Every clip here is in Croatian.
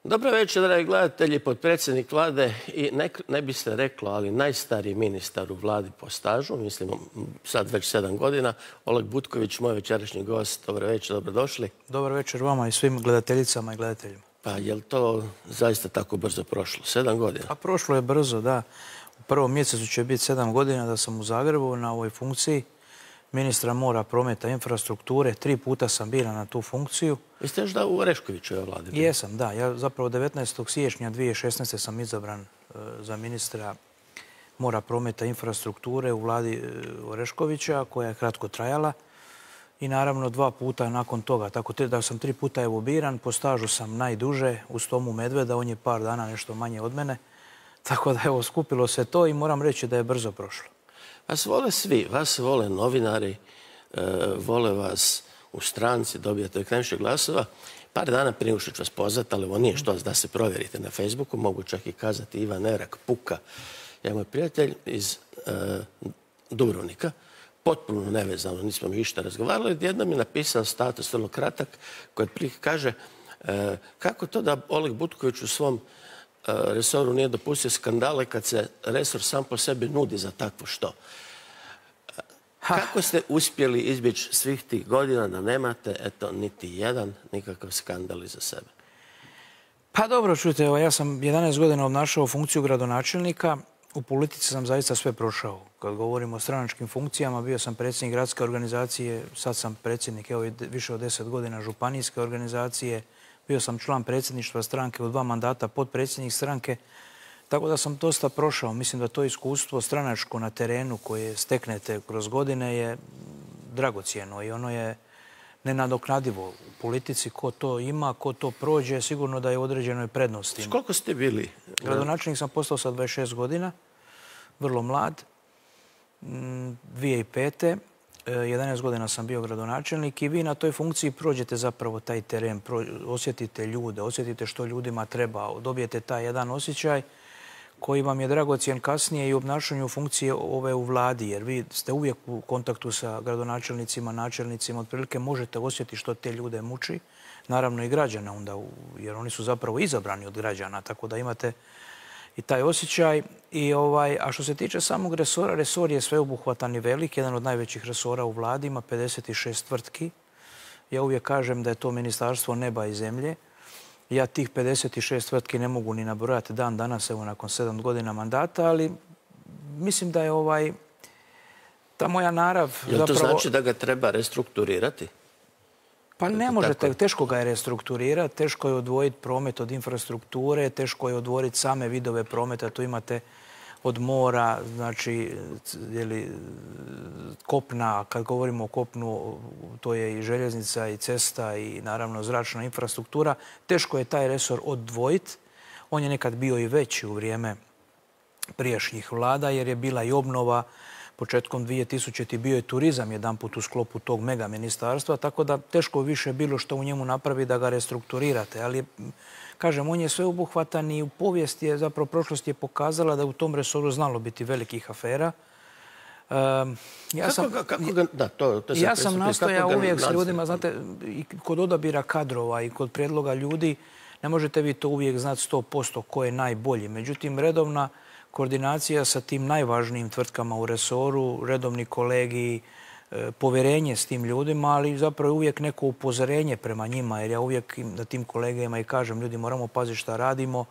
Dobro večer, dragi gledatelji, potpredsjednik vlade i ne bi se reklo, ali najstariji ministar u vladi po stažu, mislim sad već 7 godina, Oleg Butković, moj večerašnji gost. Dobro večer, dobrodošli. Dobar večer vama i svim gledateljicama i gledateljima. Pa je li to zaista tako brzo prošlo? 7 godina? Pa prošlo je brzo, da. U prvom mjesecu će biti 7 godina da sam u Zagrebu na ovoj funkciji ministra mora, prometa i infrastrukture. 3 puta sam biran na tu funkciju. Vi ste još da u Oreškovićevoj vladi? Jesam, da. Ja zapravo 19. siječnja 2016. sam izabran za ministra mora, prometa i infrastrukture u vladi Oreškovića, koja je kratko trajala. I naravno 2 puta nakon toga. Tako da sam 3 puta evo biran. Po stažu sam najduže uz Tomu Medveda. On je par dana nešto manje od mene. Tako da evo skupilo se to i moram reći da je brzo prošlo. Vas vole svi. Vas vole novinari, vole vas u stranci, dobijate najviše glasova. Par dana prije nego što ću vas pozvati, ali ovo nije što da se provjerite na Facebooku. Mogu čak i kazati Ivan Erak Puka. Ja moj prijatelj iz Dubrovnika. Potpuno nevezano, nismo mi išta razgovarali. Jednom je napisao status, vrlo kratak, koji kaže kako to da Oleg Butković u svom resoru nije dopustio skandale kad se resor sam po sebi nudi za takvo što. Kako ste uspjeli izbjeći svih tih godina da nemate, eto, niti jedan nikakav skandal iza sebe? Pa dobro, čujte, evo, ja sam 11 godina obnašao funkciju gradonačelnika. U politici sam zaista sve prošao. Kad govorimo o stranačkim funkcijama, bio sam predsjednik gradske organizacije, sad sam predsjednik više od 10 godina županijske organizacije, bio sam član predsjedništva stranke u 2 mandata, potpredsjednik stranke, tako da sam dosta prošao. Mislim da to iskustvo stranačko na terenu koje steknete kroz godine je dragocjeno i ono je nenadoknadivo u politici. Ko to ima, ko to prođe, sigurno da je u određenoj prednosti. Koliko ste bili? Gradonačelnik sam postao sa 26 godina, vrlo mlad, 2005. 11 godina sam bio gradonačelnik i vi na toj funkciji prođete zapravo taj teren, osjetite ljude, osjetite što ljudima treba, dobijete taj jedan osjećaj koji vam je dragocjen kasnije i u obnašanju funkcije ove u vladi, jer vi ste uvijek u kontaktu sa gradonačelnicima, načelnicima, otprilike možete osjetiti što te ljude muči, naravno i građana onda, jer oni su zapravo izabrani od građana, tako da imate i taj osjećaj. A što se tiče samog resora, resor je sveobuhvatan i velik, jedan od najvećih resora u vladi, ima 56 tvrtki. Ja uvijek kažem da je to ministarstvo neba i zemlje. Ja tih 56 tvrtki ne mogu ni nabrojati dan danas, evo nakon 7 godina mandata, ali mislim da je ta moja narav... Jel to znači da ga treba restrukturirati? Pa ne možete, teško ga je restrukturirati, teško je odvojiti promet od infrastrukture, teško je odvojiti same vidove prometa, tu imate od mora, znači kopna, kad govorimo o kopnu, to je i željeznica i cesta i naravno zračna infrastruktura. Teško je taj resor odvojiti. On je nekad bio i veći u vrijeme prijašnjih vlada jer je bila i obnova. Početkom 2000. bio je turizam jedanput u sklopu tog mega ministarstva, tako da teško više bilo što u njemu napravi da ga restrukturirate. Ali, kažem, on je sveobuhvatan i u povijesti je, zapravo prošlost je pokazala da je u tom resoru znalo biti velikih afera. Ja sam nastojao uvijek s ljudima, znate, i kod odabira kadrova i kod prijedloga ljudi, ne možete vi to uvijek znati 100% ko je najbolji. Međutim, redovna koordinacija sa tim najvažnijim tvrtkama u resoru, redovni kolegi, povjerenje s tim ljudima, ali zapravo je uvijek neko upozorenje prema njima, jer ja uvijek na tim kolegama i kažem, ljudi, moramo paziti šta radimo.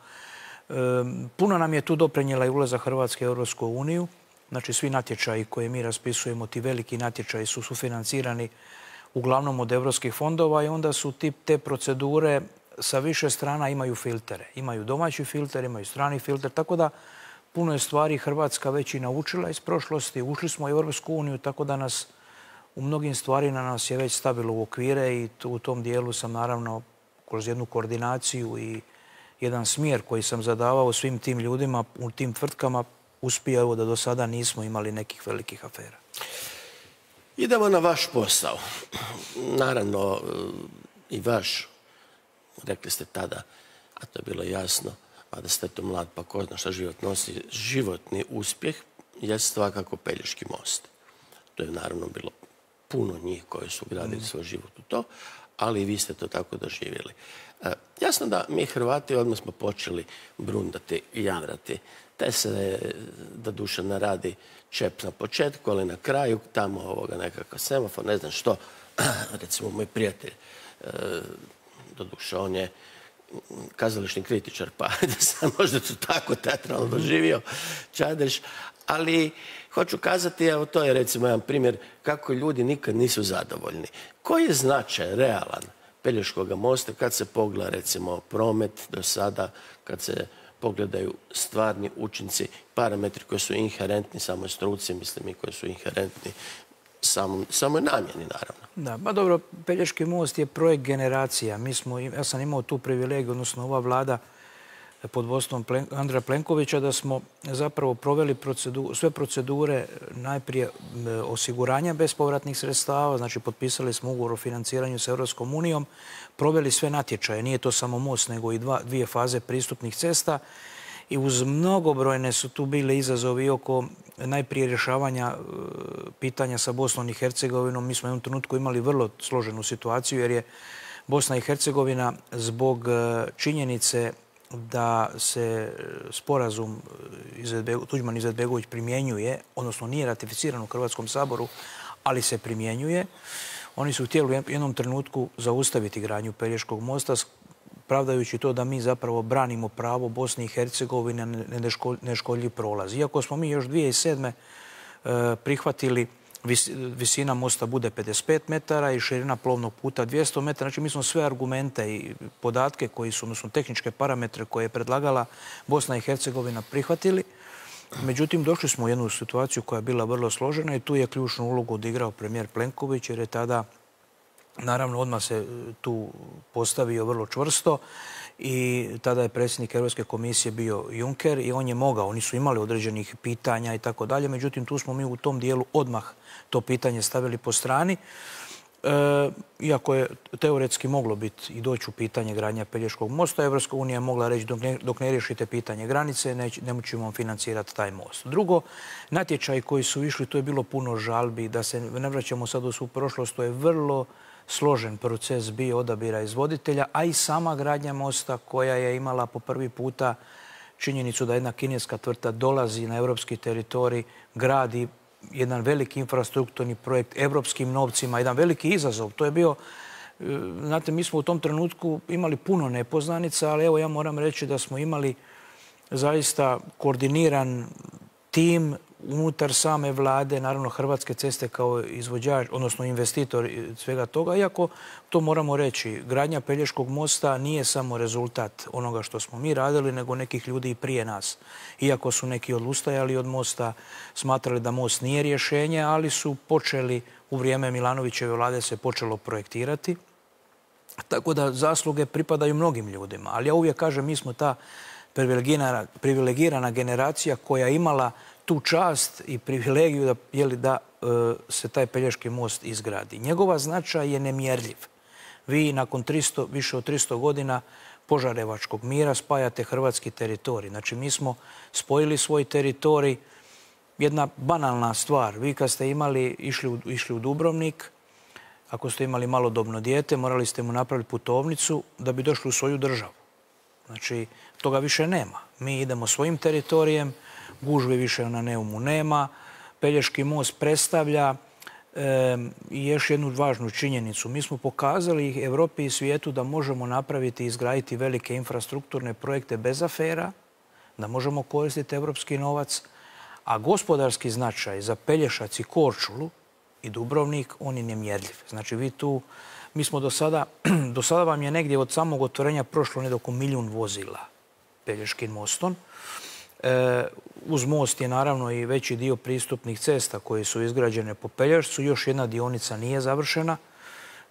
Puno nam je tu doprinijela i ulazak Hrvatske u Europsku uniju. Znači, svi natječaji koje mi raspisujemo, ti veliki natječaji su sufinancirani uglavnom od europskih fondova i onda su te procedure sa više strana imaju filtere. Imaju domaći filter, imaju strani filter, tako da puno je stvari Hrvatska već i naučila iz prošlosti. Ušli smo u Europsku uniju, tako da nas u mnogim stvarima nas je već stavilo u okvire i u tom dijelu sam naravno kroz jednu koordinaciju i jedan smjer koji sam zadavao svim tim ljudima u tim tvrtkama uspio da do sada nismo imali nekih velikih afera. Idemo na vaš posao. Naravno i vaš, rekli ste tada, a to je bilo jasno, a da ste to mlad pa ko zna šta život nosi, životni uspjeh je svakako Pelješki most. To je naravno bilo puno njih koji su gradili svoj život u to, ali i vi ste to tako doživjeli. Jasno da mi Hrvati odmah smo počeli brundati i jamrati. Te se da duša naradi čep na početku, ali na kraju tamo nekakav semafor, ne znam što. Recimo, moj prijatelj, do duša, on je kazališni kritičar, pa da sam možda to tako teatralno doživio, Čadeš. Ali hoću kazati, evo to je recimo jedan primjer kako ljudi nikad nisu zadovoljni. Koji je značaj realan Pelješkog mosta kad se pogleda recimo promet do sada, kad se pogledaju stvarni učinci, parametri koji su inherentni samoj struci, mislim i koji su inherentni samoj namjeni, naravno. Da, pa dobro, Pelješki most je projekt generacija. Ja sam imao tu privilegiju, odnosno ova vlada pod vodstvom Andreja Plenkovića, da smo zapravo proveli sve procedure, najprije osiguranja bespovratnih sredstava, znači potpisali smo ugovor o financiranju s Europskom unijom, proveli sve natječaje, nije to samo most, nego i dvije faze pristupnih cesta i uz mnogobrojne su tu bile izazovi oko najprije rješavanja pitanja sa Bosnom i Hercegovinom. Mi smo u jednom trenutku imali vrlo složenu situaciju jer je Bosna i Hercegovina zbog činjenice da se sporazum Tuđman-Izetbegović primjenjuje, odnosno nije ratificiran u Hrvatskom saboru, ali se primjenjuje. Oni su htjeli u jednom trenutku zaustaviti gradnju Pelješkog mosta, pravdajući to da mi zapravo branimo pravo Bosne i Hercegovine na neškodljiv prolaz. Iako smo mi još 2007. prihvatili visina mosta bude 55 metara i širina plovnog puta 200 metara. Znači, mi smo sve argumente i podatke koji su, odnosno tehničke parametre koje je predlagala Bosna i Hercegovina prihvatili. Međutim, došli smo u jednu situaciju koja je bila vrlo složena i tu je ključnu ulogu odigrao premijer Plenković jer je tada, naravno, odmah se tu postavio vrlo čvrsto i tada je predsjednik Europske komisije bio Juncker i on je mogao, oni su imali određenih pitanja i tako dalje, međutim tu smo mi u tom dijelu odmah to pitanje stavili po strani. Iako je teoretski moglo biti i doći u pitanje gradnja Pelješkog mosta, Evropska unija je mogla reći dok ne riješite pitanje granice, nećemo vam financirati taj most. Drugo, natječaji koji su išli, to je bilo puno žalbi, da se ne vraćamo sad u svu prošlost, to je vrlo složen proces bio odabira izvoditelja, a i sama gradnja mosta koja je imala po prvi puta činjenicu da jedna kineska tvrtka dolazi na europski teritorij, gradi jedan veliki infrastrukturni projekt evropskim novcima, jedan veliki izazov. To je bio, znate, mi smo u tom trenutku imali puno nepoznanica, ali evo ja moram reći da smo imali zaista koordiniran tim unutar same vlade, naravno Hrvatske ceste kao izvođač, odnosno investitor svega toga, iako to moramo reći, gradnja Pelješkog mosta nije samo rezultat onoga što smo mi radili, nego nekih ljudi i prije nas. Iako su neki odustajali od mosta, smatrali da most nije rješenje, ali su počeli, u vrijeme Milanovićeve vlade se počelo projektirati. Tako da zasluge pripadaju mnogim ljudima. Ali ja uvijek kažem, mi smo ta privilegirana generacija koja je imala tu čast i privilegiju da se taj Pelješki most izgradi. Njegova značaj je nemjerljiv. Vi nakon više od 300 godina Požarevačkog mira spajate hrvatski teritorij. Znači, mi smo spojili svoj teritorij. Jedna banalna stvar. Vi kad ste išli u Dubrovnik, ako ste imali malodobno dijete, morali ste mu napraviti putovnicu da bi došli u svoju državu. Znači, toga više nema. Mi idemo svojim teritorijem, gužve više na Neumu nema. Pelješki most predstavlja i još jednu važnu činjenicu. Mi smo pokazali Evropi i svijetu da možemo napraviti i izgraditi velike infrastrukturne projekte bez afera, da možemo koristiti evropski novac, a gospodarski značaj za Pelješac i Korčulu i Dubrovnik, on je nemjerljiv. Znači, mi smo do sada vam je negdje od samog otvorenja prošlo negdje oko 1 milijun vozila Pelješkim mostom. Uz most je naravno i veći dio pristupnih cesta koje su izgrađene po Pelješcu. Još jedna dionica nije završena.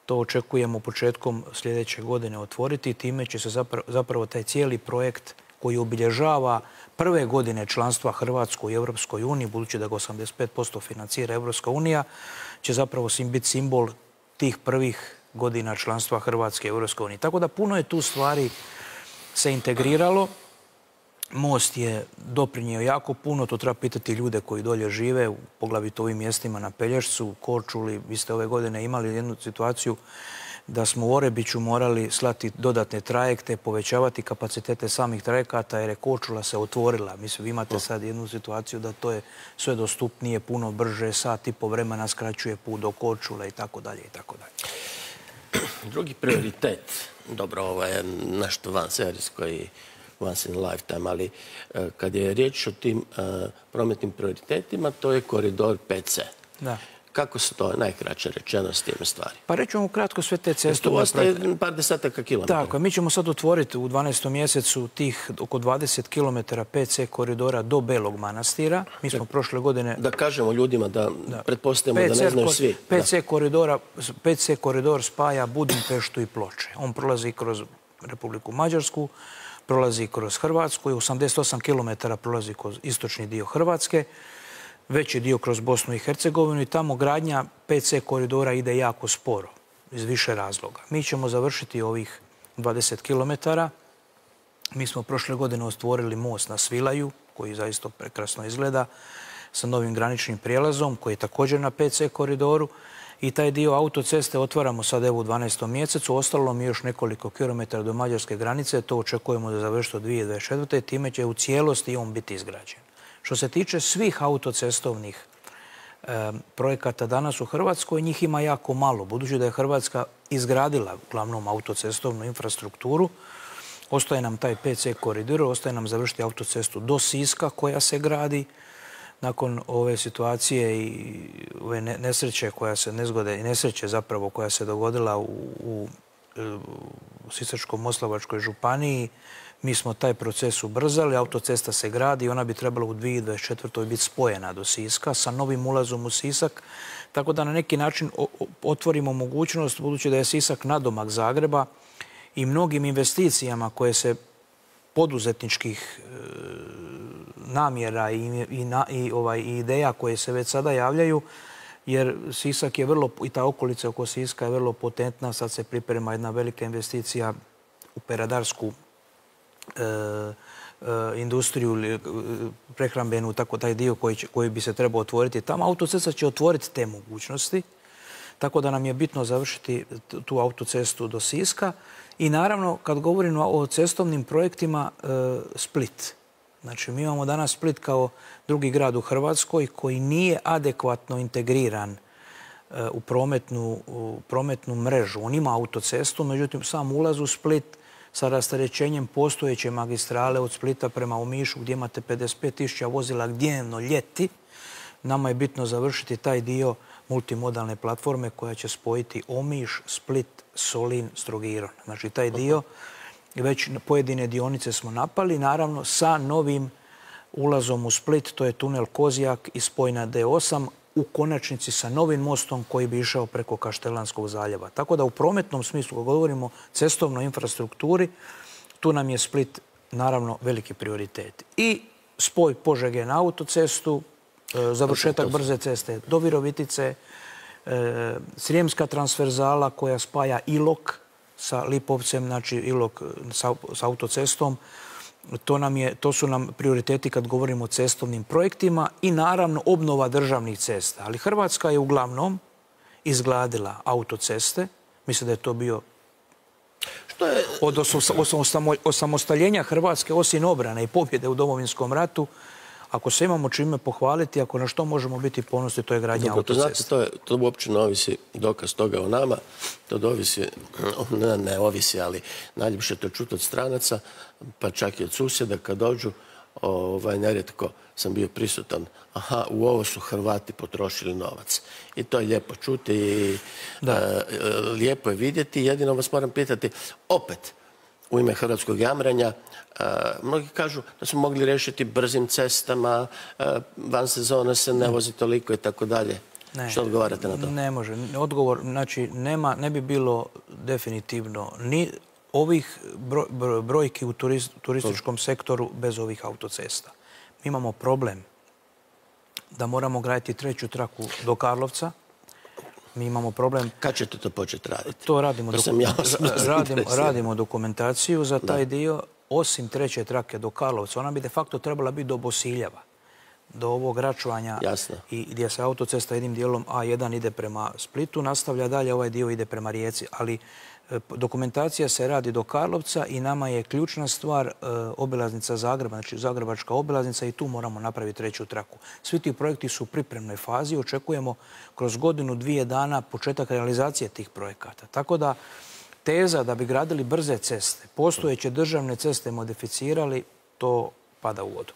To očekujemo početkom sljedeće godine otvoriti i time će se zapravo taj cijeli projekt koji obilježava prve godine članstva Hrvatskoj i Europskoj uniji, budući da ga 85% financira Europska unija, će zapravo biti simbol tih prvih godina članstva Hrvatske i Europske unije. Tako da puno je tu stvari se integriralo. most je doprinio jako puno, to treba pitati ljude koji dolje žive, poglavito u ovim mjestima na Pelješcu, Korčuli. Vi ste ove godine imali jednu situaciju da smo u Orebiću morali slati dodatne trajekte, povećavati kapacitete samih trajekata jer je Korčula se otvorila. Mislim, vi imate sad jednu situaciju da to je sve dostupnije, puno brže, sat i po vremena skraćuje put do Korčule i tako dalje i tako dalje. Drugi prioritet, dobro, ovo je nešto vanserijsko i once in a lifetime, ali kad je riječ o tim prometnim prioritetima, to je koridor 5C. Da. Kako se to najkraće rečeno s tim stvari? Pa reću vam kratko sve te ceste. Tu ostaje par desetaka kilometara. Tako, mi ćemo sad otvoriti u 12. mjesecu tih oko 20 km 5C koridora do Belog Manastira. Mi smo prošle godine... Da kažemo ljudima da pretpostavimo da ne znaju svi. 5C koridor spaja Budimpeštu i Ploče. On prolazi kroz Republiku Mađarsku, prolazi kroz Hrvatsku i 88 km prolazi kroz istočni dio Hrvatske, veći dio kroz Bosnu i Hercegovinu i tamo gradnja 5C koridora ide jako sporo, iz više razloga. Mi ćemo završiti ovih 20 km. Mi smo prošle godine otvorili most na Svilaju, koji zaista prekrasno izgleda, sa novim graničnim prijelazom, koji je također na 5C koridoru. I taj dio autoceste otvaramo sad evo u 12. mjesecu. Ostalo mi još nekoliko kilometara do mađarske granice. To očekujemo da završi do 2024. Time će u cijelosti on biti izgrađen. Što se tiče svih autocestovnih projekata danas u Hrvatskoj, njih ima jako malo. Budući da je Hrvatska izgradila uglavnom autocestovnu infrastrukturu, ostaje nam taj 5C koridor, ostaje nam završiti autocestu do Siska koja se gradi. Nakon ove situacije i ove nesreće koja se nezgode i nesreće zapravo koja se dogodila u Sisačko-moslavačkoj županiji, mi smo taj proces ubrzali, autocesta se gradi i ona bi trebala u 2024. biti spojena do Siska sa novim ulazom u Sisak, tako da na neki način otvorimo mogućnost, budući da je Sisak nadomak Zagreba i mnogim investicijama koje se poduzetničkih namjera i ideja koje se već sada javljaju, jer Sisak je vrlo, i ta okolica oko Siska je vrlo potentna. Sad se priprema jedna velika investicija u peradarsku industriju, prehrambenu, tako taj dio koji bi se trebao otvoriti tamo. Autocesta će otvoriti te mogućnosti, tako da nam je bitno završiti tu autocestu do Siska. I naravno, kad govorimo o cestovnim projektima, Split. Znači, mi imamo danas Split kao drugi grad u Hrvatskoj koji nije adekvatno integriran u prometnu mrežu. On ima autocestu, međutim, sam ulaz u Split sa rasterećenjem postojeće magistrale od Splita prema Omišu, gdje imate 55.000 vozila dnevno ljeti, nama je bitno završiti taj dio multimodalne platforme koja će spojiti Omiš, Split, Solin s Trogirom. Znači, taj dio, već pojedine dionice smo napali, naravno sa novim ulazom u Split, to je tunel Kozjak i spoj na D8, u konačnici sa novim mostom koji bi išao preko Kaštelanskog zaljeva. Tako da u prometnom smislu, kad govorimo o cestovnoj infrastrukturi, tu nam je Split naravno veliki prioritet. I spoj Požege na autocestu, završetak brze ceste do Virovitice, Srijemska transverzala koja spaja Ilok sa Lipovcem, znači Ilok sa autocestom. To su nam prioriteti kad govorimo o cestovnim projektima i naravno obnova državnih cesta. Ali Hrvatska je uglavnom izgradila autoceste. Mislim da je to bio od osamostaljenja Hrvatske, osim obrane i pobjede u Domovinskom ratu. Ako se imamo čime pohvaliti, ako na što možemo biti ponosni, to je gradnja autocesta. To uopće ne ovisi dokaz toga o nama. To ne ovisi, ali najljepše to čuti od stranaca, pa čak i od susjeda kad dođu. Nerijetko sam bio prisutan. Aha, u ovo su Hrvati potrošili novac. I to je lijepo čuti i lijepo je vidjeti. Jedino vas moram pitati, opet, u ime hrvatskog jamranja, mnogi kažu da smo mogli riješiti brzim cestama, van sezona se ne vozi toliko i tako dalje. Što odgovarate na to? Ne može. Odgovor, znači, ne bi bilo definitivno ni ovih brojki u turističkom sektoru bez ovih autocesta. Mi imamo problem da moramo graditi treću traku do Karlovca. Mi imamo problem... Kad ćete to početi raditi? To radimo dokumentaciju za taj dio. osim treće trake do Karlovca, ona bi de facto trebala biti do Bosiljeva, do ovog Račvanja i gdje se autocesta jednim dijelom A1 ide prema Splitu, nastavlja dalje, ovaj dio ide prema Rijeci. Ali dokumentacija se radi do Karlovca i nama je ključna stvar obilaznica Zagreba, znači Zagrebačka obilaznica i tu moramo napraviti treću traku. Svi ti projekti su u pripremnoj fazi, očekujemo kroz godinu, 2 dana početak realizacije tih projekata. Tako da teza da bi gradili brze ceste, postojeće državne ceste modificirali, to pada u vodu.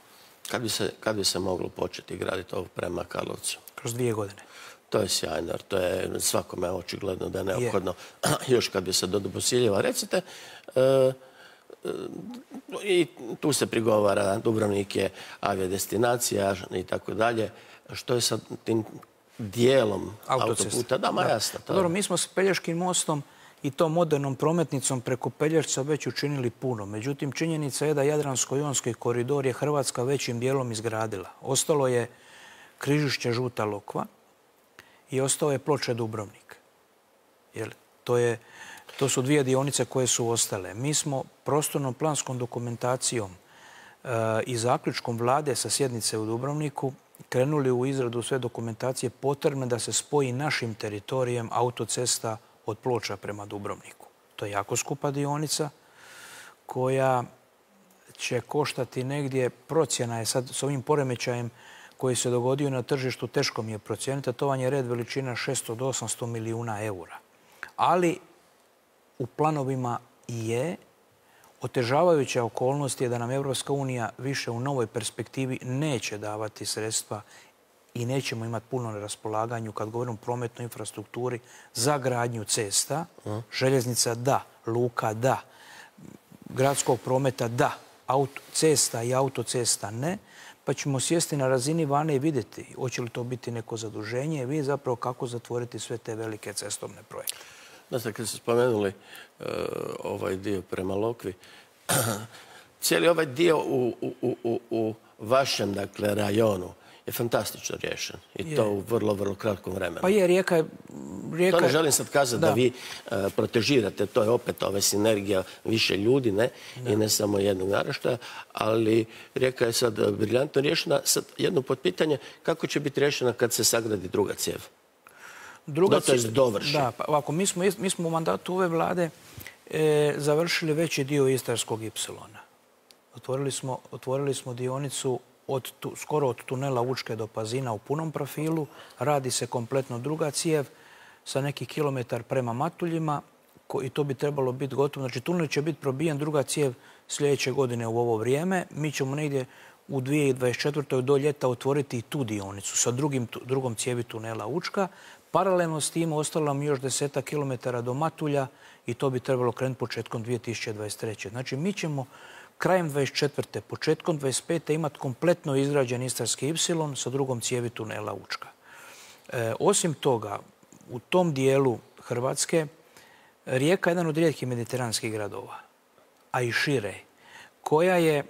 Kad bi se moglo početi graditi ovo prema Karlovcu? Kroz 2 godine. To je sjajno, jer to je svakome očigledno da je neophodno. Još kad bi se do Bosiljeva, recite, i tu se prigovara, Dubrovnik je aviodestinacija i tako dalje. Što je sa tim dijelom autoputa? Da, ma jasno. Dobro, mi smo s Pelješkim mostom i tom modernom prometnicom preko Pelješca već učinili puno. Međutim, činjenica je da Jadransko-jonski koridor je Hrvatska većim dijelom izgradila. Ostalo je Križišće Žuta Lokva i ostao je Ploče-Dubrovnik. To su 2 dionice koje su ostale. Mi smo prostornom planskom dokumentacijom i zaključkom vlade sa sjednice u Dubrovniku krenuli u izradu sve dokumentacije potrebne da se spoji našim teritorijem autocesta od Ploča prema Dubrovniku. To je jako skupa dionica koja će koštati negdje, procjena je sad s ovim poremećajem koji se dogodio na tržištu, teško mi je procijeniti, a to vam je red veličina 600 do 800 milijuna eura. Ali u planovima je otežavajuća okolnost je da nam Evropska unija više u novoj perspektivi neće davati sredstva i nećemo imati puno na raspolaganju kad govorimo o prometnoj infrastrukturi za gradnju cesta, željeznica da, luka da, gradskog prometa da, cesta i autocesta ne, pa ćemo sjesti na razini vane i vidjeti hoće li to biti neko zaduženje i vidjeti zapravo kako zatvoriti sve te velike cestovne projekte. Znači, kad ste spomenuli ovaj dio prema Lokvi, cijeli ovaj dio u vašem, dakle, rajonu je fantastično riješen. I to u vrlo, vrlo kratkom vremenu. Pa je, rijeka... To ne želim sad kazati da vi protežirate, to je opet ova sinergija više ljudi, ne? I ne samo jednog naraštaja, ali rijeka je sad briljantno riješena. Sad jedno potpitanje, kako će biti riješena kad se sagradi druga cijev? To je dovrši. Da, pa ovako, mi smo u mandatu ove vlade završili veći dio Istarskog Ipsilona. Otvorili smo dionicu skoro od tunela Učke do Pazina u punom profilu. Radi se kompletno druga cijev sa nekih kilometar prema Matuljima i to bi trebalo biti gotovo. Znači, tunel će biti probijen, druga cijev sljedeće godine u ovo vrijeme. Mi ćemo negdje u 2024. do ljeta otvoriti i tu dionicu sa drugom cijevi tunela Učka. Paralelno s tim ostalo nam još 10 kilometara do Matulja i to bi trebalo krenuti početkom 2023. Znači, mi ćemo krajem 2024. početkom 2025. imati kompletno izgrađen Istarski Ipsilon sa drugom cijevi tunela Učka. Osim toga, u tom dijelu Hrvatske Rijeka je jedan od rijetkih mediteranskih gradova, a i šire, koja je,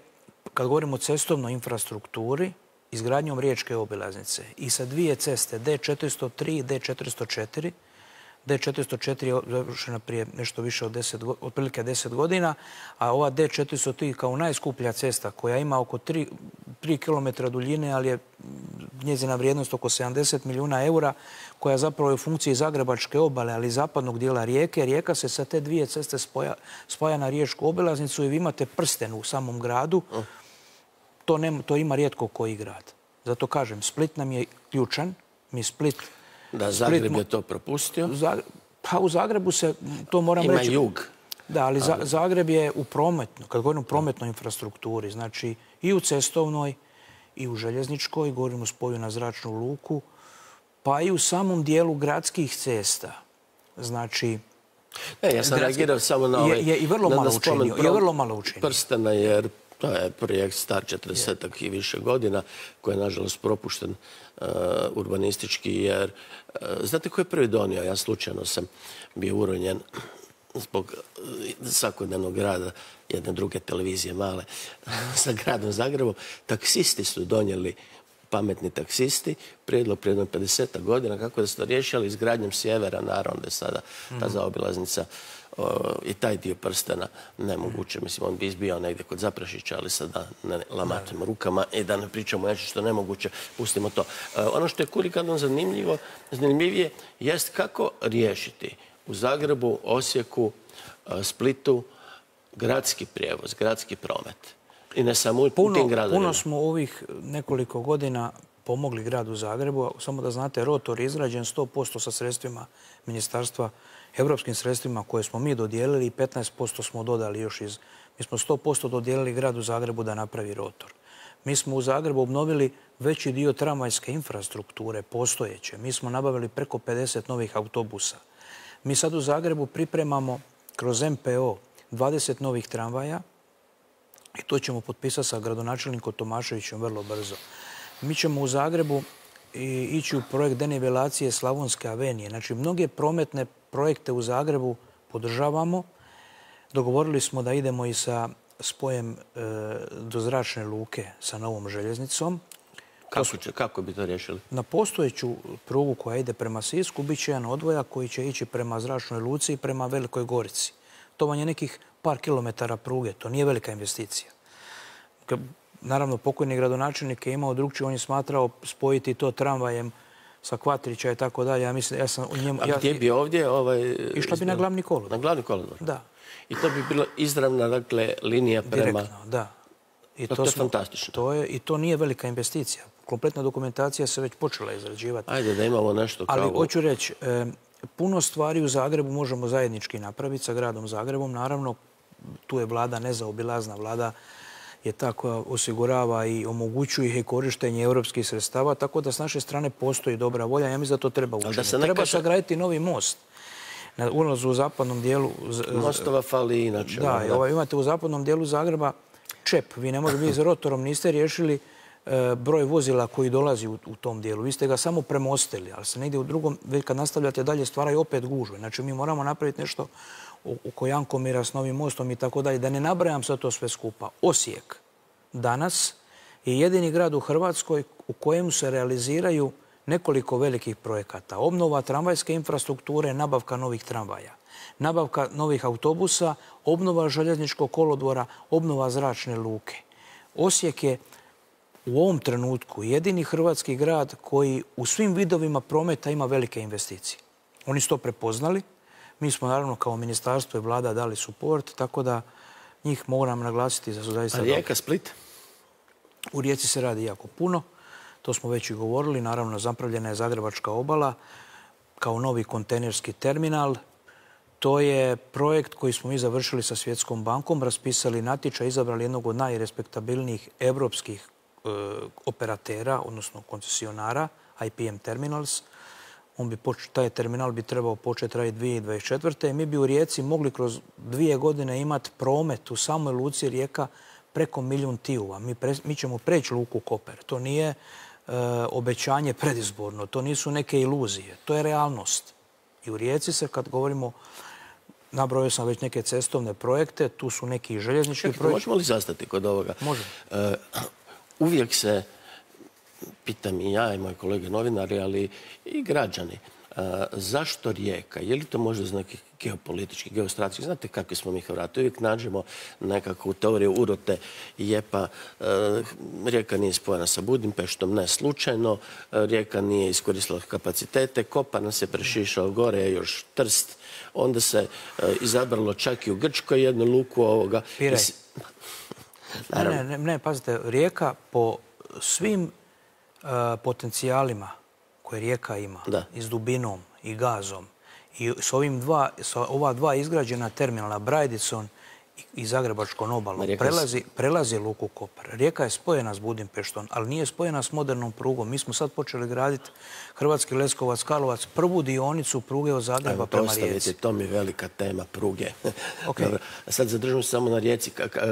kad govorimo o cestovnoj infrastrukturi, izgradnjom riječke obilaznice i sa 2 ceste D403 i D404. D404 je završena prije nešto više od otprilike 10 godina, a ova D403 kao najskuplja cesta koja ima oko 3 km duljine, ali je njezina vrijednost oko 70 milijuna eura, koja zapravo je u funkciji Zagrebačke obale, ali i zapadnog dijela Rijeke. Rijeka se sa te 2 ceste spaja na riječku obilaznicu i vi imate prsten u samom gradu. To ima rijetko koji grad. Zato kažem, Split nam je ključan. Da, Zagreb je to propustio. Pa u Zagrebu se, to moram reći... Ima jug. Da, ali Zagreb je u prometnoj, kad govorim o prometnoj infrastrukturi, znači i u cestovnoj, i u željezničkoj, govorim o spoju na zračnu luku, pa i u samom dijelu gradskih cesta. Znači... Ja sam reagirao samo na ovaj... Je i vrlo malo učinio. Prstena, jer to je projekt star 40 i više godina, koji je, nažalost, propušten urbanistički, jer... Znate ko je prvi donio? Ja slučajno sam bio uronjen zbog svakodnevnog rada jedne druge televizije male sa gradom Zagrebom. Taksisti su donijeli, pametni taksisti, prijedlog prije 50 godina kako da su to riješili izgradnjom sjevera, naravno da je sada ta zaobilaznica i taj dio prstena nemoguće. Mislim, on bi izbijao negdje kod Zaprašića, ali sada ne lamatimo rukama i da ne pričamo nešto što je nemoguće, pustimo to. Ono što je kurikadno zanimljivije jest kako riješiti u Zagrebu, Osijeku, Splitu gradski prijevoz, gradski promet. I ne samo u tim gradovima. Puno smo ovih nekoliko godina pomogli gradu Zagrebu. Samo da znate, rotor je izgrađen 100% sa sredstvima ministarstva, evropskim sredstvima koje smo mi dodijelili i 15% smo dodali još iz... Mi smo 100% dodijelili gradu Zagrebu da napravi rotor. Mi smo u Zagrebu obnovili veći dio tramvajske infrastrukture postojeće. Mi smo nabavili preko 50 novih autobusa. Mi sad u Zagrebu pripremamo kroz MPO 20 novih tramvaja i to ćemo potpisati sa gradonačelnikom Tomaševićem vrlo brzo. Mi ćemo u Zagrebu ići u projekt denivelacije Slavonske avenije. Znači, mnoge prometne projekte u Zagrebu podržavamo. Dogovorili smo da idemo i sa spojem do zračne luke sa novom željeznicom. Kako bi to riješili? Na postojeću prugu koja ide prema Sisku bit će jedan odvojak koji će ići prema zračnoj luci i prema Velikoj Gorici. To vam je nekih par kilometara pruge. To nije velika investicija. Naravno, pokojni gradonačelnik je imao drugčije. On je smatrao spojiti to tramvajem sa Kvatrića i tako dalje. Ja mislim, ja sam u njemu... A gdje bi ovdje... Išla bi na glavni kolodvor. Na glavni kolodvor? Da. I to bi bila izravna, dakle, linija prema... Direktno, da. To je fantastično. I to nije velika investicija. Kompletna dokumentacija se već počela izrađivati. Ajde da imamo nešto kao... Ali hoću reći, puno stvari u Zagrebu možemo zajednički napraviti sa gradom Zagrebom. Naravno, tu je vlada nezaobilazna. Vlada je ta koja osigurava i omogućuje korištenje europskih sredstava, tako da s naše strane postoji dobra volja. Ja mislim da to treba učiniti. Treba sagraditi novi most. Na ulazu u zapadnom dijelu... Mostova fali inače. Da, imate u zapadnom dijelu Zagreba čep. Vi ne možete, vi s rotorom niste riješili broj vozila koji dolazi u tom dijelu. Vi ste ga samo premostili, ali se negdje u drugom, već kad nastavljate dalje, stvaraju opet gužve. Znači, mi moramo napraviti nešto oko Jankomira s novim mostom i tako dalje. Da ne nabrajam sad to sve skupa. Osijek danas je jedini grad u Hrvatskoj u kojem se realiziraju nekoliko velikih projekata. Obnova tramvajske infrastrukture, nabavka novih tramvaja, nabavka novih autobusa, obnova željezničkog kolodvora, obnova zračne luke. Osijek je u ovom trenutku jedini hrvatski grad koji u svim vidovima prometa ima velike investicije. Oni su to prepoznali. Mi smo naravno kao ministarstvo i vlada dali suport, tako da njih moram naglasiti da su zaista... A Rijeka, Split? U Rijeci se radi jako puno. To smo već i govorili. Naravno, zapravljena je Zagrebačka obala kao novi kontejnerski terminal. To je projekt koji smo mi završili sa Svjetskom bankom, raspisali natječaj, izabrali jednog od najrespektabilnijih evropskih operatera, odnosno koncesionara, IPM Terminals. Taj terminal bi trebao početi raditi 2024. Mi bi u Rijeci mogli kroz 2 godine imati promet u samoj luci Rijeka preko 1 milijun TIU-a. Mi ćemo preći luku Koper. To nije obećanje predizborno, to nisu neke iluzije, to je realnost. I u Rijeci se, kad govorimo, nabrojio sam već neke cestovne projekte, tu su neki željeznički projekti. Možemo li zastati kod ovoga? Može. Uvijek se, pitam i ja i moji kolege novinari, ali i građani, zašto Rijeka? Je li to možda za neki geopolitički, geostrateški? Znate kakvi smo mi Hrvati? Uvijek nađemo nekakvu teoriju urote i jepa. Rijeka nije spojena sa Budimpeštom, ne slučajno. Rijeka nije iskoristila kapacitete. Kopar nas je prešišao gore, još Trst. Onda se izabralo čak i u Grčkoj jednu luku ovoga. Pirej. Ne, pazite, Rijeka po svim potencijalima koje Rijeka ima, i s dubinom i gazom, i s ova dva izgrađena terminala, Brajdicon i Zagrebačkom obalom, prelazi luku Kopar. Rijeka je spojena s Budimpeštom, ali nije spojena s modernom prugom. Mi smo sad počeli graditi Hrvatski Leskovac-Karlovac, prvu dionicu pruge od Zagreba prema Rijeci. To mi je velika tema pruge. A sad zadržimo se samo na Rijeci.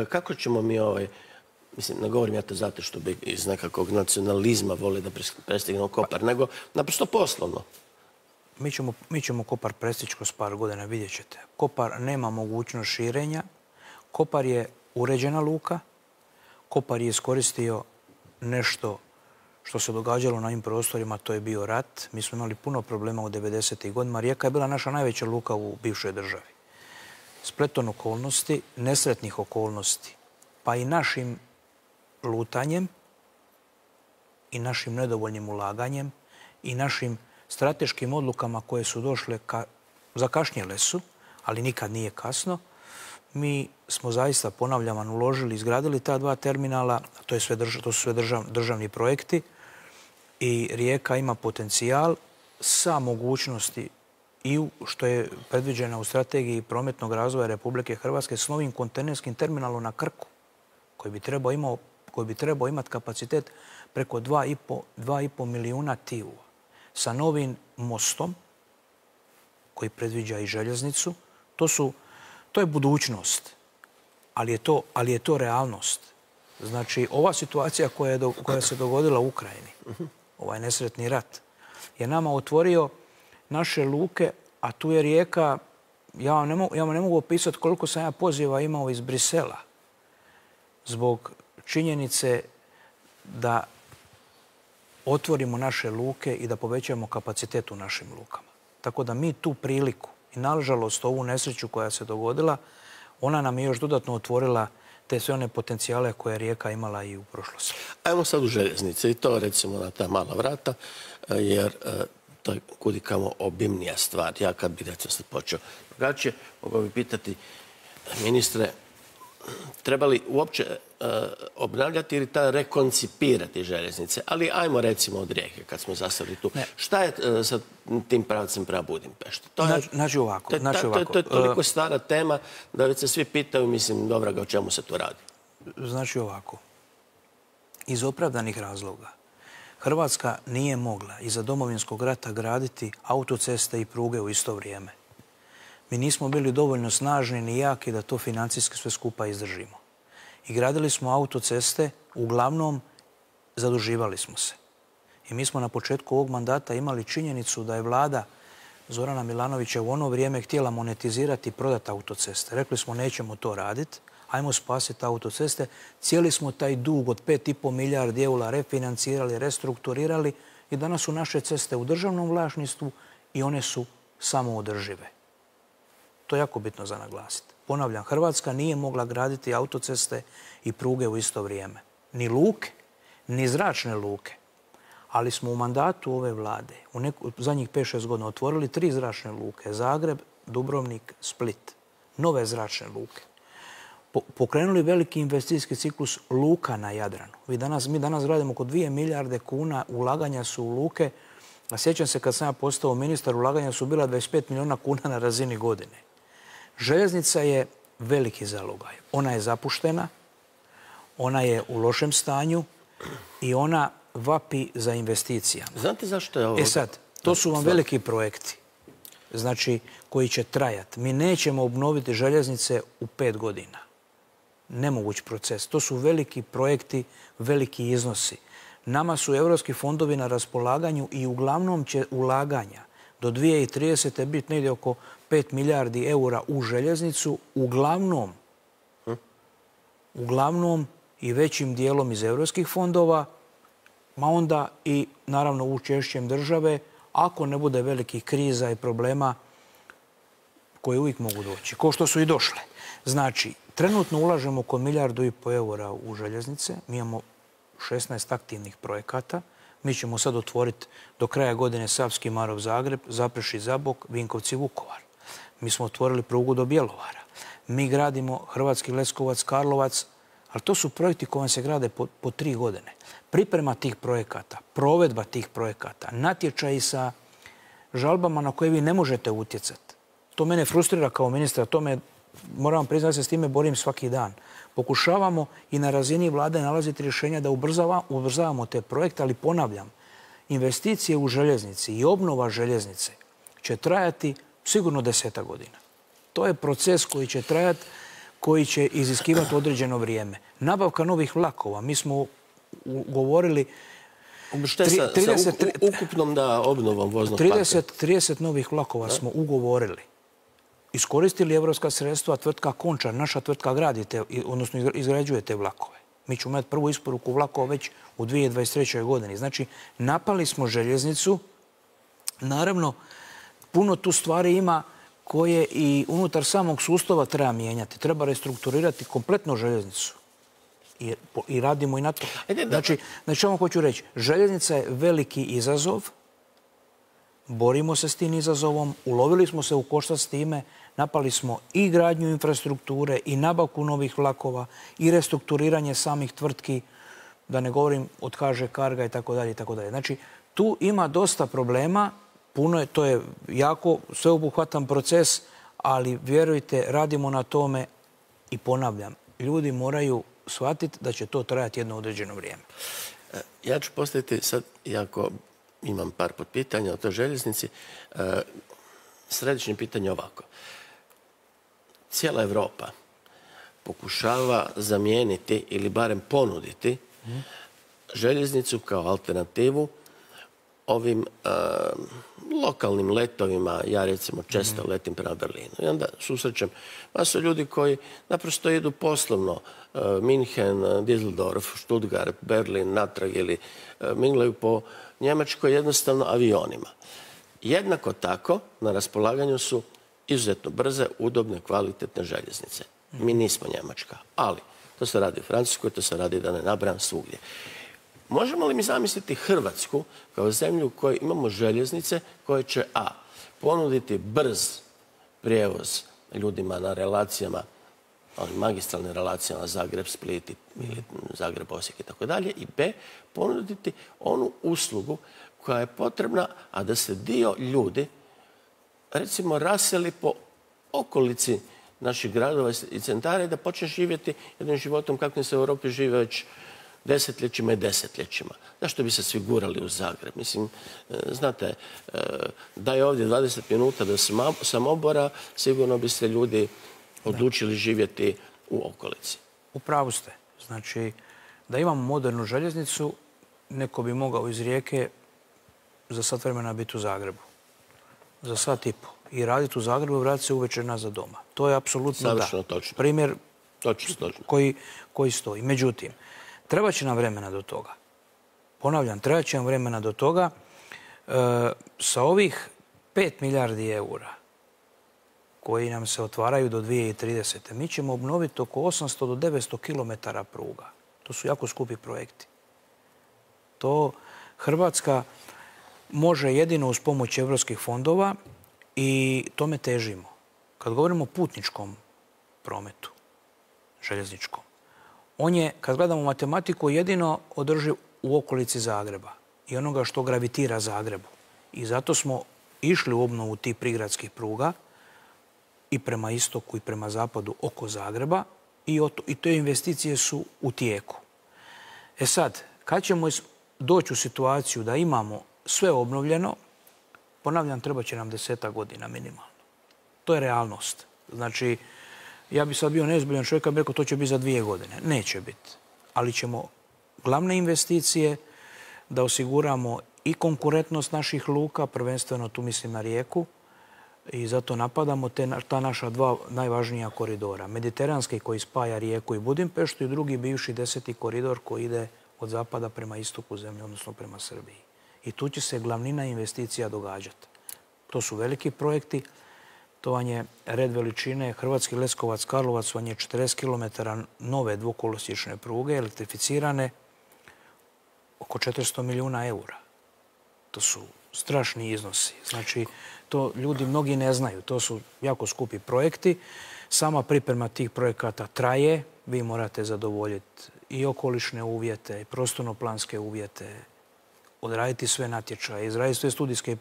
Kako ćemo mi mislim, ne govorim ja to zato što bi iz nekakvog nacionalizma voli da prestignemo Kopar, nego naprosto poslovno. Mi ćemo Kopar prestići kroz par godina, vidjet ćete. Kopar nema mogućnost širenja. Kopar je uređena luka. Kopar je iskoristio nešto što se događalo na ovim prostorima, to je bio rat. Mi smo imali puno problema u 90. godinama. Rijeka je bila naša najveća luka u bivšoj državi. spletom okolnosti, nesretnih okolnosti, pa i našim lutanjem i našim nedovoljnim ulaganjem i našim strateškim odlukama koje su došle, zakašnjele su, ali nikad nije kasno. Mi smo zaista, ponavljam, uložili, izgradili ta dva terminala, to su sve državni projekti i Rijeka ima potencijal sa mogućnosti i što je predviđeno u strategiji prometnog razvoja Republike Hrvatske s novim kontejnerskim terminalom na Krku, koji bi trebao imati kapacitet preko 2,5 milijuna TIU, sa novim mostom koji predviđa i željeznicu. To je budućnost, ali je to realnost. Znači, ova situacija koja se dogodila u Ukrajini, ovaj nesretni rat, je nama otvorio naše luke, a tu je Rijeka, ja vam ne mogu opisati koliko sam ja poziva imao iz Brisela zbog činjenice da otvorimo naše luke i da povećamo kapacitet u našim lukama. Tako da mi tu priliku i nažalost ovu nesreću koja se dogodila, ona nam je još dodatno otvorila te sve one potencijale koje je Rijeka imala i u prošlosti. Ajmo sad u željeznice i to recimo na ta mala vrata, jer to je kudikamo obimnija stvar. Ja kad bi recimo sad počeo drugačije, mogao bi pitati ministre, treba li uopće obnavljati ili rekoncipirati željeznice? Ali ajmo recimo od Rijeke, kad smo zastavili tu. Šta je sa tim pravcem prema Budimpešti? Znači ovako. To je toliko stara tema da već se svi pitaju, mislim, dobra ga, o čemu se tu radi? Znači ovako. Iz opravdanih razloga Hrvatska nije mogla iza Domovinskog rata graditi autoceste i pruge u isto vrijeme. Mi nismo bili dovoljno snažni ni jaki da to financijski sve skupa izdržimo. I gradili smo autoceste, uglavnom zaduživali smo se. I mi smo na početku ovog mandata imali činjenicu da je vlada Zorana Milanovića u ono vrijeme htjela monetizirati i prodati autoceste. Rekli smo nećemo to raditi, ajmo spasiti autoceste. Cijeli smo taj dug od 5,5 milijardi eura refinancirali, restrukturirali i danas su naše ceste u državnom vlasništvu i one su samoodržive. To je jako bitno za naglasiti. Ponavljam, Hrvatska nije mogla graditi autoceste i pruge u isto vrijeme. Ni luke, ni zračne luke. Ali smo u mandatu ove vlade u zadnjih 5-6 godina otvorili 3 zračne luke. Zagreb, Dubrovnik, Split. Nove zračne luke. Pokrenuli veliki investicijski ciklus luka na Jadranu. Mi danas gradimo oko 2 milijarde kuna, ulaganja su u luke. A sjećam se kad sam ja postao ministar, ulaganja su bila 25 milijuna kuna na razini godine. Željeznica je veliki zalogaj. Ona je zapuštena, ona je u lošem stanju i ona vapi za investicijama. Znate zašto je ovo? Sad, to su vam veliki projekti, znači, koji će trajati. Mi nećemo obnoviti željeznice u 5 godina. Nemoguć proces. To su veliki projekti, veliki iznosi. Nama su evropski fondovi na raspolaganju i uglavnom će ulaganja do 2030. biti negdje oko 5 milijardi eura u željeznicu, uglavnom i većim dijelom iz evropskih fondova, ma onda i naravno učešćem države, ako ne bude velikih kriza i problema koje uvijek mogu doći, kao što su i došle. Znači, trenutno ulažemo oko 1,5 milijardu eura u željeznice, mi imamo 16 aktivnih projekata. Mi ćemo sad otvoriti do kraja godine Savski Marof-Zagreb, Zaprešić-Zabok, Vinkovci-Vukovar. Mi smo otvorili prugu do Bjelovara. Mi gradimo Hrvatski Leskovac-Karlovac, ali to su projekti koji se grade po 3 godine. Priprema tih projekata, provedba tih projekata, natječaji sa žalbama na koje vi ne možete utjecati. To mene frustrira kao ministra, moram vam priznati da se s time borim svaki dan. Pokušavamo i na razini vlade nalaziti rješenja da ubrzavamo te projekte, ali ponavljam, investicije u željeznici i obnova željeznice će trajati sigurno 10 godina. To je proces koji će trajati, koji će iziskivati određeno vrijeme. Nabavka novih vlakova. Mi smo ugovorili ukupnom obnovom voznog parka. 30 novih vlakova smo ugovorili. Iskoristili evropska sredstva, tvrtka Končar, naša tvrtka odnosno izgrađuje te vlakove. Mi ćemo imati prvu isporuku vlakova već u 2023. godini. Znači, napali smo željeznicu. Naravno, puno tu stvari ima koje i unutar samog sustava treba mijenjati. Treba restrukturirati kompletno željeznicu. I radimo i na to. Znači, ovo hoću reći, željeznica je veliki izazov, borimo se s tim izazovom, ulovili smo se u koštac s time, napali smo i gradnju infrastrukture, i nabavku novih vlakova, i restrukturiranje samih tvrtki, da ne govorim od HŽ Carga i tako dalje, i tako dalje. Znači, tu ima dosta problema, to je jako sveobuhvatan proces, ali vjerujte, radimo na tome i ponavljam, ljudi moraju shvatiti da će to trajati jedno određeno vrijeme. Ja ću postaviti sad, iako imam par potpitanja o toj željeznici, središnje pitanje ovako. Cijela Evropa pokušava zamijeniti ili barem ponuditi željeznicu kao alternativu ovim lokalnim letovima. Ja recimo često letim prema Berlinu i onda susrećem masu ljudi koji naprosto idu poslovno Minhen, Düsseldorf, Stuttgart, Berlin, natrag ili minglaju po Njemačkoj jednostavno avionima. Jednako tako na raspolaganju su izuzetno brze, udobne, kvalitetne željeznice. Mi nismo Njemačka, ali to se radi u Francuskoj, to se radi, da ne nabrajam, svugdje. Možemo li mi zamisliti Hrvatsku kao zemlju u kojoj imamo željeznice koje će ponuditi brz prijevoz ljudima na relacijama, magistralnim relacijama Zagreb-Split ili Zagreb-Osijek i tako dalje, i B, ponuditi onu uslugu koja je potrebna, a da se dio ljudi recimo raseli po okolici naših gradova i centara i da počne živjeti jednim životom kakvim se u Europi žive već desetljećima i desetljećima. Zašto bi se svi gurali u Zagreb? Mislim, znate, da je ovdje 20 minuta do Samobora, sigurno bi se ljudi odlučili živjeti u okolici. U pravu ste. Znači, da imamo modernu željeznicu, neko bi mogao iz Rijeke za sat vremena biti u Zagrebu. Za sat i po. I raditi u Zagrebu i vratiti se uvečer nazad doma. To je apsolutno da. Savršeno točno. Primjer točno. Koji stoji. Međutim, treba će nam vremena do toga. Ponavljam, treba će nam vremena do toga. Sa ovih 5 milijardi eura koji nam se otvaraju do 2030. mi ćemo obnoviti oko 800 do 900 kilometara pruga. To su jako skupi projekti. To Hrvatska može jedino uz pomoć evropskih fondova i tome težimo. Kad govorimo o putničkom prometu, željezničkom, on je, kad gledamo matematiku, jedino održiv u okolici Zagreba i onoga što gravitira Zagrebu. I zato smo išli u obnovu tih prigradskih pruga i prema istoku i prema zapadu oko Zagreba i te investicije su u tijeku. E sad, kad ćemo doći u situaciju da imamo sve obnovljeno, ponavljam, treba će nam 10 godina minimalno. To je realnost. Znači, ja bi sad bio neozbiljan čovjek, bi rekao to će biti za 2 godine. Neće biti. Ali ćemo glavne investicije da osiguramo i konkurentnost naših luka, prvenstveno tu mislim na Rijeku, i zato napadamo ta naša 2 najvažnija koridora. Mediteranski koji spaja Rijeku i Budimpeštu i drugi bivši 10. koridor koji ide od zapada prema istoku zemlje, odnosno prema Srbiji. I tu će se glavnina investicija događati. To su veliki projekti. To vam je red veličine Hrvatski Leskovac-Karlovac, vam je 40 km nove dvokolosječne pruge, elektrificirane, oko 400 milijuna eura. To su strašni iznosi. Znači, to ljudi mnogi ne znaju. To su jako skupi projekti. Sama priprema tih projekata traje. Vi morate zadovoljiti i okolišne uvjete, i prostorno-planske uvjete, odraditi sve natječaje, izraditi sve studijske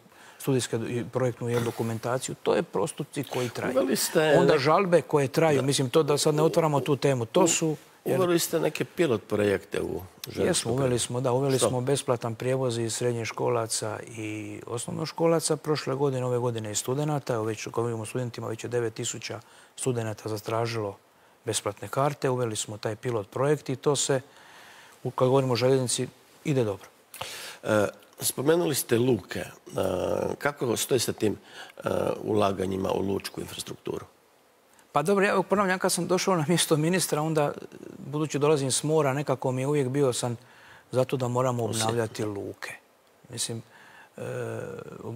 i projektnu dokumentaciju. To je postupci koji traju. Onda žalbe koje traju. Mislim, to da sad ne otvaramo tu temu. To su... Uveli ste neke pilot projekte u željezničku? Jesmo, uveli smo besplatan prijevoz iz srednjoškolaca i osnovnoškolaca. Prošle godine, ove godine i studenata. Već govorimo o studentima, već je 9000 studenata zatražilo besplatne karte. Uveli smo taj pilot projekt i to se, kad govorimo o željeznici, ide dobro. Spomenuli ste luke. Kako stoji sa tim ulaganjima u lučku infrastrukturu? Pa dobro, ja ponavljam, kad sam došao na mjesto ministra, onda, budući dolazim s mora, nekako mi je uvijek bio sam zato da moramo obnavljati luke. Mislim,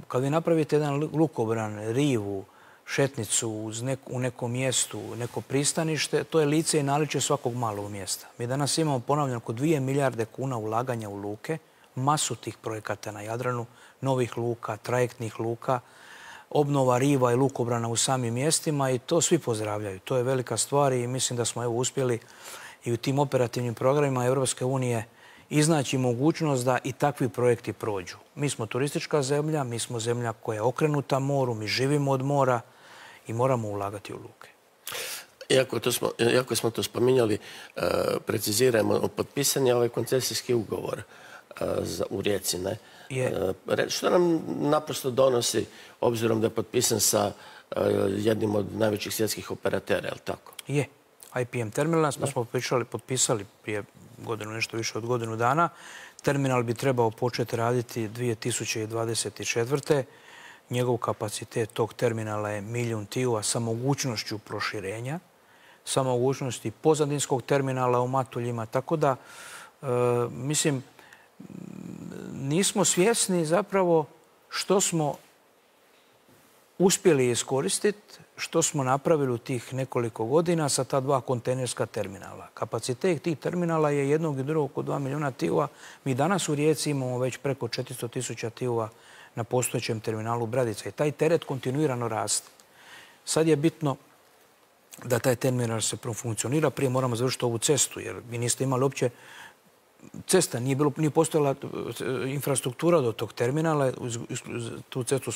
kad vi napravite jedan lukobran, rivu, šetnicu u nekom mjestu, neko pristanište, to je lice i naličje svakog malog mjesta. Mi danas imamo, ponavljam, oko 2 milijarde kuna ulaganja u luke, masu tih projekata na Jadranu, novih luka, trajektnih luka, obnova riva i lukobrana u samim mjestima i to svi pozdravljaju. To je velika stvar i mislim da smo uspjeli i u tim operativnim programima Europske unije iznaći mogućnost da i takvi projekti prođu. Mi smo turistička zemlja, mi smo zemlja koja je okrenuta moru, mi živimo od mora i moramo ulagati u luke. Iako smo to spominjali, preciziramo, potpisan je ovaj koncesijski ugovor u Rijeci, ne? Što nam naprosto donosi, obzirom da je potpisan sa jednim od najvećih svjetskih operatera, je li tako? Je. IPM terminal smo potpisali prije nešto više od godinu dana. Terminal bi trebao početi raditi 2024. Njegov kapacitet tog terminala je 1 milijun TIU-a sa mogućnošću proširenja, sa mogućnosti pozadinskog terminala u Matuljima. Tako da, mislim, nismo svjesni zapravo što smo uspjeli iskoristiti, što smo napravili u tih nekoliko godina sa ta 2 kontejnerska terminala. Kapacitet tih terminala je jednog i drugog oko 2 milijuna TIU-a. Mi danas u Rijeci imamo već preko 400.000 TIU-a na postojećem terminalu Bradica i taj teret kontinuirano raste. Sad je bitno da taj terminal se profunkcionira. Prije moramo završiti ovu cestu, jer vi niste imali uopće cesta, nije postojala infrastruktura do tog terminala. Tu cestu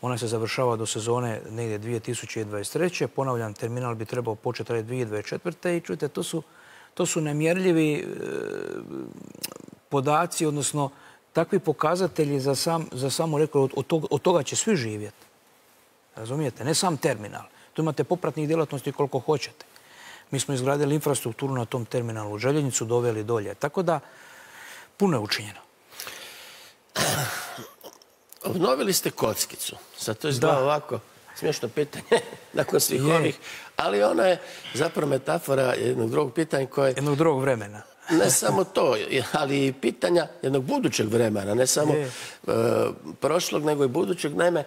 ona se završava do sezone negdje 2023. Ponavljam, terminal bi trebao početi raditi 2024. I čujte, to su nemjerljivi podaci, odnosno takvi pokazatelji za samo rekao, od toga će svi živjeti. Razumijete? Ne sam terminal. Tu imate popratnih djelatnosti koliko hoćete. Mi smo izgradili infrastrukturu na tom terminalu, željeznicu doveli dolje. Tako da, puno je učinjeno. Obnovili ste kockicu. Sad to izgleda ovako smiješno pitanje nakon svih ovih, ali ona je zapravo metafora jednog drugog pitanja koje... Jednog drugog vremena. Ne samo to, ali i pitanja jednog budućeg vremena, ne samo prošlog, nego i budućeg. Naime,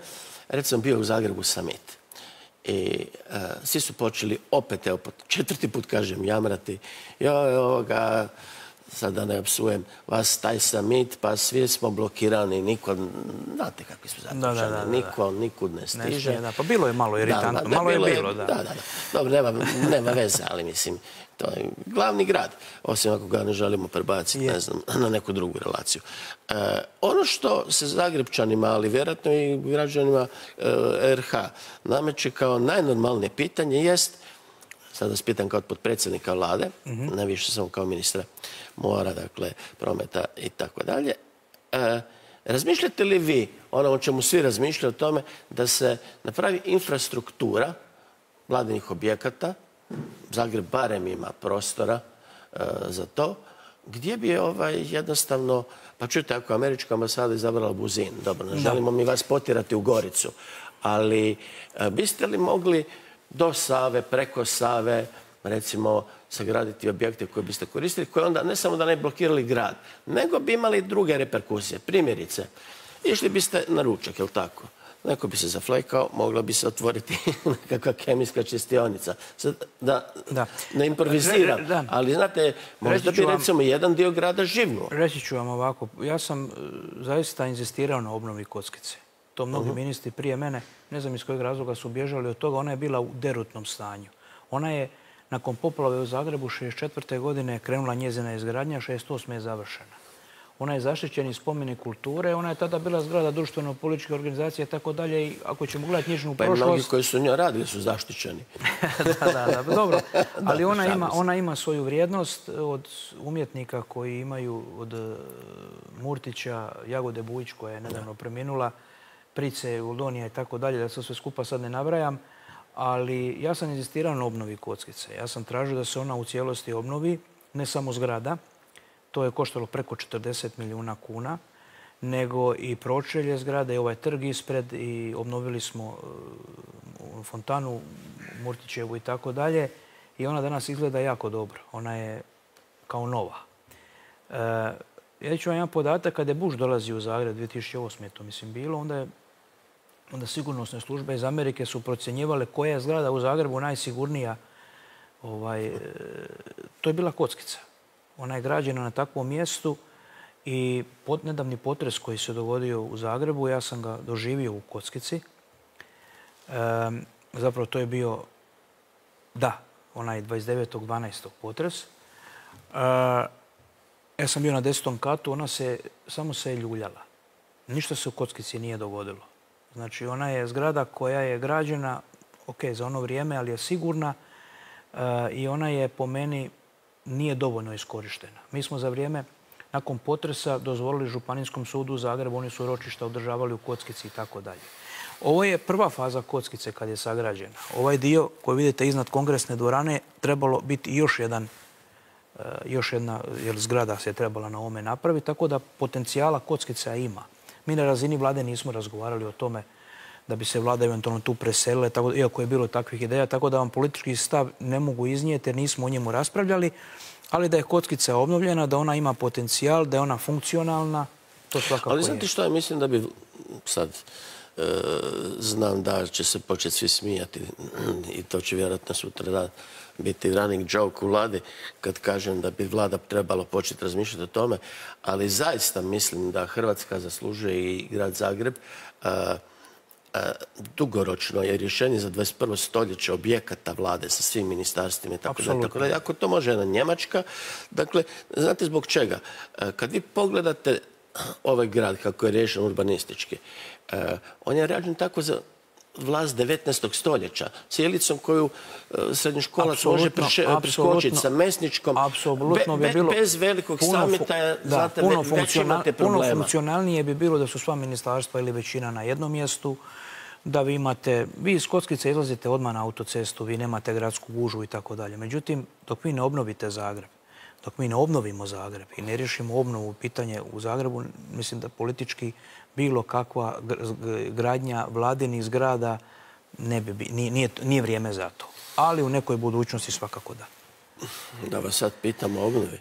recimo bio u Zagrebu summit i svi su počeli opet, evo, 4. put kažem, jamrati. Joj, ovoga, sad da ne opsujem vas, taj summit, pa svi smo blokirani, niko, znate kakvi su zaključani, niko nikud ne stiže. Pa bilo je malo iritantno, malo je bilo, da. Da. Dobro, nema veze, ali mislim, to je glavni grad, osim ako ga ne želimo prebaciti, ne znam, na neku drugu relaciju. Ono što se Zagrebčanima, ali vjerojatno i građanima RH nameće kao najnormalnije pitanje jest, sad vas pitam kao potpredsjednika vlade, ne više samo kao ministra mora, dakle, prometa i tako dalje. Razmišljate li vi, ono o čemu svi razmišljaju, o tome da se napravi infrastruktura vladinih objekata, Zagreb barem ima prostora za to, gdje bi jednostavno, pa čujte, ako američka ambasada izabrala Buzin, dobro, ne želimo mi vas potirati u Goricu, ali biste li mogli do Save, preko Save, recimo, sagraditi objekte koje biste koristili, koje onda ne samo da ne blokirali grad, nego bi imali druge reperkusije. Primjerice, išli biste na ručak, je li tako? Neko bi se zaflekao, mogla bi se otvoriti nekakva kemijska čistionica. Da ne improviziram, ali znate, možda bi recimo jedan dio grada živnuo. Reći ću vam ovako, ja sam zaista inzistirao na obnovi kockice. To mnogi ministri prije mene, ne znam iz kojeg razloga su bježali od toga, ona je bila u derutnom stanju. Ona je, nakon poplave u Zagrebu 1964. godine krenula njezina izgradnja, 1968. je završena. Ona je zaštićeni spomenik kulture, ona je tada bila zgrada društveno-političke organizacije i tako dalje. I ako ćemo gledati njezinu prošlost... Pa i mnogi koji su njoj radili su zaštićeni. Da, dobro. Ali ona ima svoju vrijednost od umjetnika koji imaju od Murtića, Jagode Bujić koja je nedavno preminula, Price, Uldonija i tako dalje, da se sve skupa sad ne nabrajam. Ali ja sam inzistirao na obnovi kockice. Ja sam tražio da se ona u cijelosti obnovi, ne samo zgrada. To je koštalo preko 40 milijuna kuna, nego i pročelje zgrade i ovaj trg ispred i obnovili smo fontanu Murtićevu i tako dalje. I ona danas izgleda jako dobro. Ona je kao nova. Ja ću vam jedan podatak, kada je Bush dolazio u Zagreb 2008. to mislim bilo, onda je onda sigurnosne službe iz Amerike su procjenjivale koja je zgrada u Zagrebu najsigurnija. To je bila Kockica. Ona je građena na takvom mjestu i nedavni potres koji se dogodio u Zagrebu, ja sam ga doživio u Kockici. Zapravo to je bio, onaj 29.12. potres. Ja sam bio na 10. katu, ona samo se je ljuljala. Ništa se u Kockici nije dogodilo. Znači, ona je zgrada koja je građena, za ono vrijeme, ali je sigurna i ona je, po meni, nije dovoljno iskorištena. Mi smo za vrijeme, nakon potresa, dozvolili Županijskom sudu u Zagrebu, oni su ročišta održavali u Kockici i tako dalje. Ovo je prva faza Kockice kad je sagrađena. Ovaj dio koji vidite iznad kongresne dvorane trebalo biti još jedna zgrada se trebala na ovome napraviti, tako da potencijala Kockica ima. Mi na razini vlade nismo razgovarali o tome da bi se vlada eventualno tu preselila, iako je bilo takvih ideja, tako da vam politički stav ne mogu iznijeti jer nismo o njemu raspravljali, ali da je Kockica obnovljena, da ona ima potencijal, da je ona funkcionalna, to svakako je. Ali znate što ja mislim da bi sad... Znam da će se početi svi smijati i to će vjerojatno sutra biti running joke u vladi kad kažem da bi vlada trebala početi razmišljati o tome, ali zaista mislim da Hrvatska zaslužuje i grad Zagreb dugoročno je rješenje za 21. stoljeće objekata vlade sa svim ministarstvima i tako dalje. Ako to može jedna Njemačka, dakle, znate zbog čega? Kad vi pogledate ovaj grad kako je riješen urbanistički, on je rađen tako za vlast 19. stoljeća, cijelicom koju srednjoškolac može preskočiti sa Mesničkom, bez velikog samita, već imate problema. Puno funkcionalnije bi bilo da su sva ministarstva ili većina na jednom mjestu, da vi iz Kockice izlazite odmah na autocestu, vi nemate gradsku gužvu i tako dalje. Međutim, dok vi ne obnovite Zagreb, dok mi ne obnovimo Zagreb i ne riješimo obnovu pitanje u Zagrebu, mislim da politički bilo kakva gradnja vladinih zgrada nije vrijeme za to. Ali u nekoj budućnosti svakako da. Da vas sad pitam o obnovi.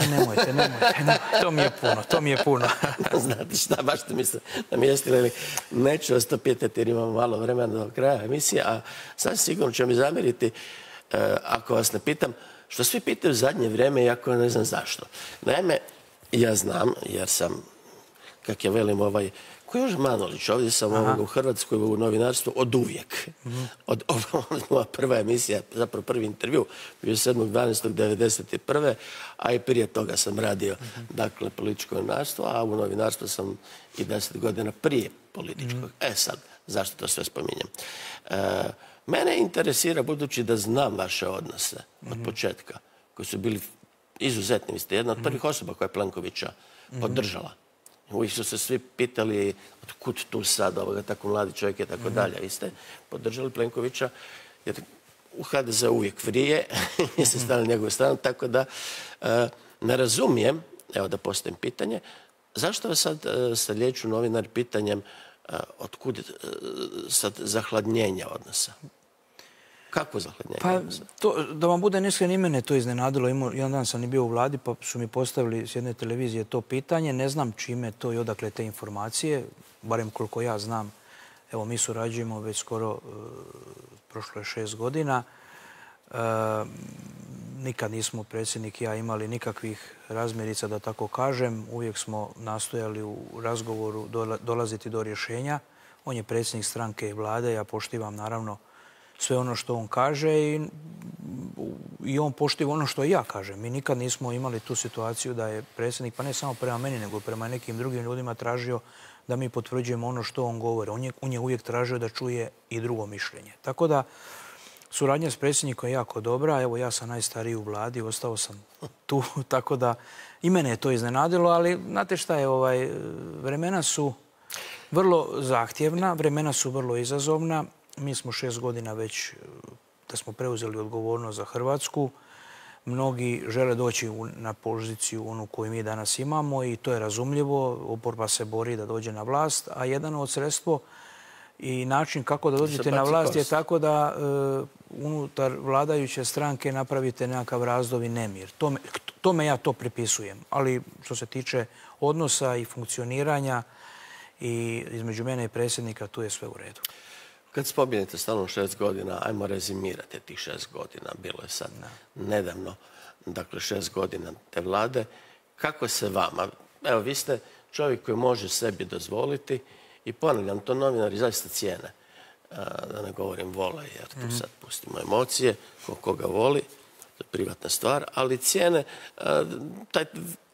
Nemojte. To mi je puno. Znate šta, baš ste mi se namjestili. Neću vas to pitati jer imamo malo vremena do kraja emisije, a sad sigurno će mi zamjeriti ako vas ne pitam što svi pitaju u zadnje vrijeme, iako ne znam zašto. Naime, ja znam, jer sam, kak je velim ko je još Manolić, ovdje sam u Hrvatskoj u novinarstvu od uvijek. Moja prva emisija, zapravo prvi intervju, bio 7.12.1991. a i prije toga sam radio, dakle, političko novinarstvo, a u novinarstvu sam i 10 godina prije političkog. Sad, zašto to sve spominjem? Mene interesira, budući da znam vaše odnose od početka, koji su bili izuzetni. Vi ste jedna od prvih osoba koja je Plenkovića podržala. Uvijek su se svi pitali otkud tu sad tako mladi čovjek i tako dalje. Vi ste podržali Plenkovića jer u HDZ uvijek vrije jer ste stali na njegovu stranu. Tako da ne razumijem, evo da postavim pitanje, zašto vas sad lijeću novinar pitanjem otkud sad zahladnjenja odnosa? Kako zahladnjenje odnosa? Da vam bude neiskren, i mene to iznenadilo. Jedan dan sam i bio u vladi pa su mi postavili s jedne televizije to pitanje. Ne znam čime to i odakle te informacije, barem koliko ja znam. Evo, mi surađujemo već skoro, prošlo je 6 godina. Nikad nismo, predsjednik i ja, imali nikakvih razmirica, da tako kažem. Uvijek smo nastojali u razgovoru dolaziti do rješenja. On je predsjednik stranke i vlade, ja poštivam naravno sve ono što on kaže i on poštiva ono što ja kažem. Mi nikad nismo imali tu situaciju da je predsjednik, pa ne samo prema meni, nego prema nekim drugim ljudima tražio da mi potvrđujemo ono što on govori. On je uvijek tražio da čuje i drugo mišljenje. Tako da suradnja s predsjednikom je jako dobra. Evo, ja sam najstariji u vladi, ostao sam tu, tako da i mene je to iznenadilo, ali znate šta je, vremena su vrlo zahtjevna, vremena su vrlo izazovna. Mi smo 6 godina već da smo preuzeli odgovornost za Hrvatsku. Mnogi žele doći na poziciju onu koju mi danas imamo i to je razumljivo. Oporba se bori da dođe na vlast, a jedan od sredstvo i način kako da dođete na vlast je tako da unutar vladajuće stranke napravite nekakav razdor i nemir. Tome ja to pripisujem. Ali što se tiče odnosa i funkcioniranja i između mene i predsjednika tu je sve u redu. Kad spominjete stalno 6 godina, ajmo rezimirati tih 6 godina. Bilo je sad nedavno, dakle 6 godina te vlade. Kako se vama, evo vi ste čovjek koji može sebi dozvoliti i ponavljam, to novinari zaista cijene. Da ne govorim vole, jer tu sad pustimo emocije, koga voli, to je privatna stvar, ali cijene taj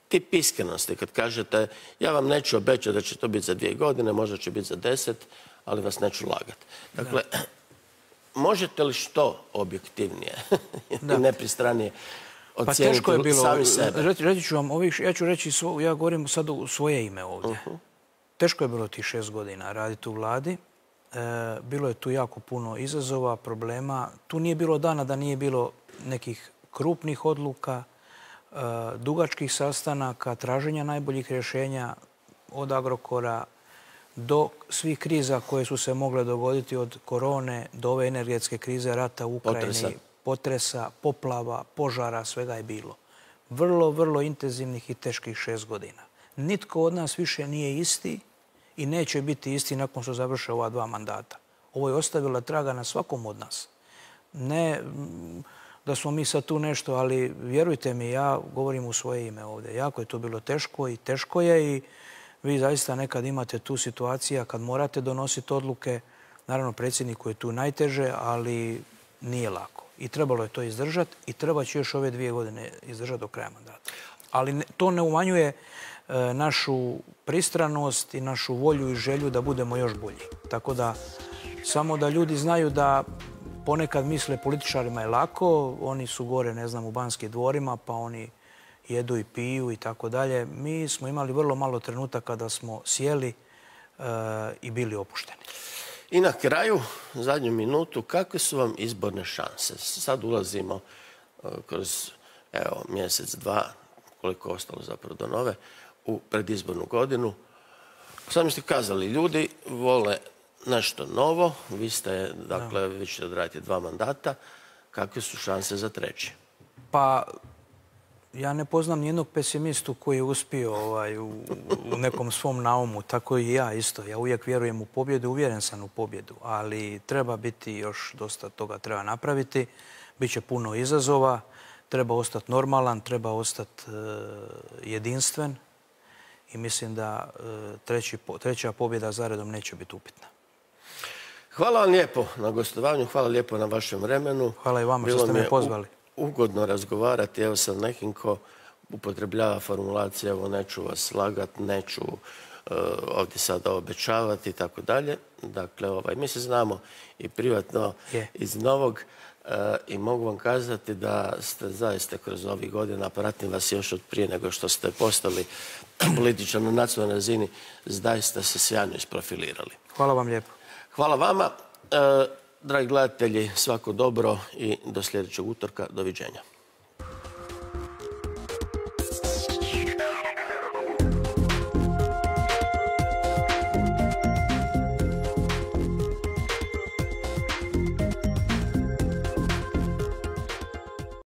tip iskrenosti. Kad kažete, ja vam neću obećati da će to biti za 2 godine, možda će biti za 10, ali vas neću lagati. Dakle, možete li što objektivnije i nepristranije ocijeniti sami sebe? Reći ću vam, ja ću reći, ja govorim sad u svoje ime ovdje. Teško je bilo tih 6 godina raditi u vladi. Bilo je tu jako puno izazova, problema. Tu nije bilo dana da nije bilo nekih krupnih odluka, dugačkih sastanaka, traženja najboljih rješenja od Agrokora do svih kriza koje su se mogle dogoditi, od korone do ove energetske krize, rata u Ukrajini, potresa, poplava, požara, svega je bilo. Vrlo, vrlo intenzivnih i teških 6 godina. Nitko od nas više nije isti i neće biti isti nakon što završe ova 2 mandata. Ovo je ostavila traga na svakom od nas. Ne da smo mi sad tu nešto, ali vjerujte mi, ja govorim u svoje ime ovdje. Jako je to bilo teško i teško je i vi zaista nekad imate tu situacija kad morate donositi odluke. Naravno, predsjedniku je tu najteže, ali nije lako. I trebalo je to izdržati i treba će još ove 2 godine izdržati do kraja mandata. Ali to ne umanjuje našu pristranost i našu volju i želju da budemo još bolji. Tako da, samo da ljudi znaju da ponekad misle političarima je lako, oni su gore, ne znam, u Banskim dvorima, pa oni jedu i piju i tako dalje. Mi smo imali vrlo malo trenutaka da smo sjeli i bili opušteni. I na kraju, zadnju minutu, kakve su vam izborne šanse? Sad ulazimo kroz mjesec, 2, koliko je ostalo zapravo do nove, u predizbornu godinu. Sami ste kazali, ljudi vole nešto novo. Vi ste, dakle, vi ćete odraditi 2 mandata. Kakve su šanse za 3? Pa, ja ne poznam nijednog pesimistu koji je uspio u nekom svom naumu. Tako i ja isto. Ja uvijek vjerujem u pobjedu, uvjeren sam u pobjedu. Ali treba biti još dosta toga treba napraviti. Biće puno izazova. Treba ostati normalan, treba ostati jedinstven. I mislim da 3. pobjeda zaredom neće biti upitna. Hvala vam lijepo na gostovanju, hvala lijepo na vašem vremenu. Hvala i vama što ste me pozvali. Ugodno razgovarati, evo sa nekim ko upotrebljava formulacije, evo neću vas lagat, neću ovdje sada obećavati i tako dalje. Dakle, mi se znamo i privatno iz Novog i mogu vam kazati da ste zaista kroz ovih godina, pratim vas još od prije nego što ste postali političar na nacionalnoj razini, zaista se sjajno isprofilirali. Hvala vam lijepo. Hvala vama. Dragi gledatelji, svako dobro i do sljedećeg utorka. Doviđenja.